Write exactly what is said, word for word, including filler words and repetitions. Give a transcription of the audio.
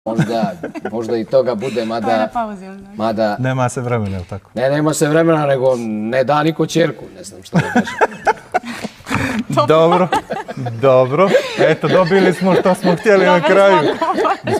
Možda, možda i toga bude, mada... mada nema se vremena, ili tako? Ne, nema se vremena, nego ne da niko ćerku, ne znam što da kažem. Dobro, dobro. Eto, dobili smo što smo htjeli na kraju.